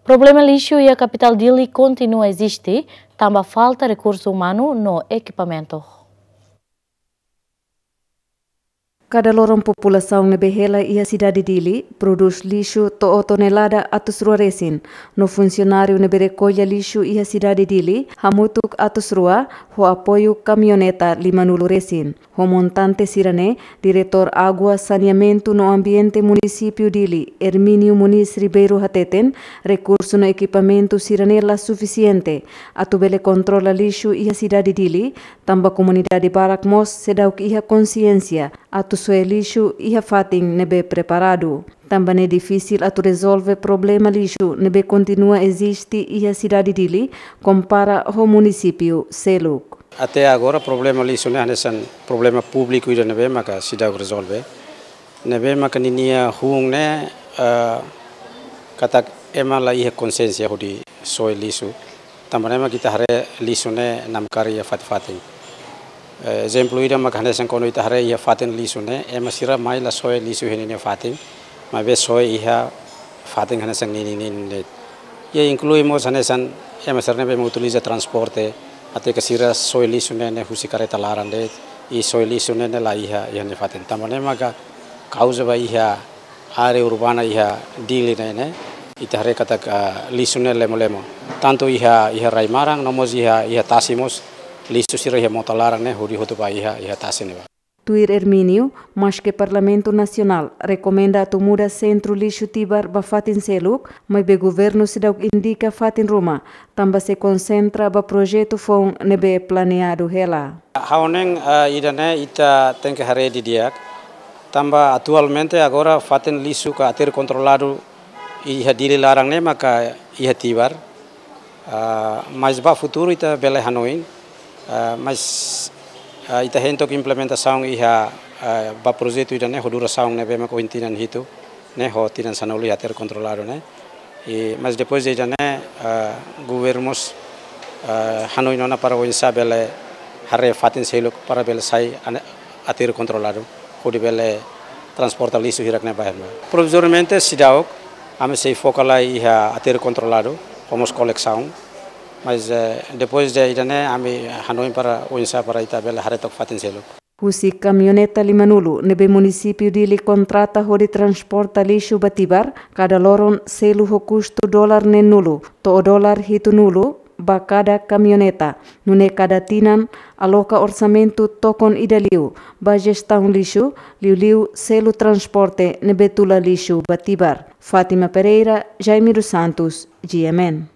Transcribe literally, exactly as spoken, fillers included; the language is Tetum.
Problema lixu iha kapitál Dili kontinua eziste, tanba falta rekursu umanu no ekipamentu. Kada loron populasaun ne'ebé hela iha sidade Dili prodús lixu to'o tonelada atus rua resin, no funsionáriu ne'ebé rekolla lixu iha sidade Dili hamutuk atus rua, ho apoiu kamioneta limanulu resin. Ho montante sira-ne'e, Diretór Água, Saneamentu no Ambiente Munisípiu Dili, Hermínio Moniz Ribeiro hateten, rekursu no ekipamentu sira-ne'e la sufisiente atu bele kontrola lixu iha sidade Dili, tanba komunidade barak mós seidauk iha konsiénsia atu soe lixu iha fatin ne'ebé preparadu. Tanba ne'e difisil atu rezolve problema lixu ne'ebé kontinua eziste iha sidade Dili, kompara ho munisípiu seluk. Até agora problema lixu ne'e hanesan problema públiku ida ne'ebé maka seidauk rezolve. Ne'ebé maka ninia hun ne'e, eh, katak ema la iha konsiénsia hodi soe lixu. Tanba ne'e maka ita haree lixu ne'e namkari iha fatin-fatin. Eh, ezemplu ida maka hanesan kuandu ita haree iha fatin lixu ne'e, ema sira mai la soe lixu iha ninia fatin, maibé soe iha fatin hanesan ninin-ninin de'it. I inklui mós hanesan ema sira ne'ebé mak utiliza transporte, até ke sira soe lixu ne'e, ne'e husi karreta laran de'it, i soe lixu ne'e, ne'e la iha, iha nia fatin. Tanba ne'e maka kauza ba iha área urbana iha Dili ne'e, ne'e, ita haree katak, ah, lixu ne'e lemo-lemo. Tantu iha, iha rai-maran, no mós iha, iha tasi mós, lixu sira iha mota laran ne'e, hodi hotu ba iha, iha tasi ne'ebá. Tuir Hermínio, maske Parlamentu Nasionál rekomenda atu muda sentru lixu Tibar ba fatin seluk, maibé governu seidauk indika fatin ruma, tanba sei konsentra ba projetu foun ne'ebé planeadu hela. Ha'u hanoin, ah, ida-ne'e ita tenke haree didi'ak, tanba atualmente agora fatin lixu ka aterru kontroladu iha Dili laran ne'e maka iha Tibar. Ah, mas ba futuru ita bele hanoin, ah, mas, ah, ita hein took implementasaun iha, ah, ba projetu ida-ne'e ho durasaun ne'ebé mak ohin tinan hitu, ne'e ho tinan sanulu iha aterru kontroladu ne'e. I, mas depois de ida-ne'e, ah, governu mós, ah, hanoin ona para oinsá bele haree fatin seluk para bele sai ane-, aterru kontroladu, hodi bele transporta lixu hirak-ne'e ba ne'ebá. Provizoriamente seidauk, ami sei foka lai iha aterru kontroladu, ho mós kolesaun. Mas, eh, depois de ida-ne'e, ami hanoin para oinsá para ita bele haree took fatin seluk. Husi kamioneta limanulu ne'ebé munisípiu Dili kontrata hodi transporta lixu ba Tibar, kada loron selu ho kustu dolar neenulu to'o dolar hitunulu ba kada kamioneta. Nune'e kada tinan aloka orsamentu tokon ida liu ba jestaun lixu, liuliu selu transporte ne'ebé tula lixu ba Tibar. Fátima Pereira, Jaime dos Santos, G M N.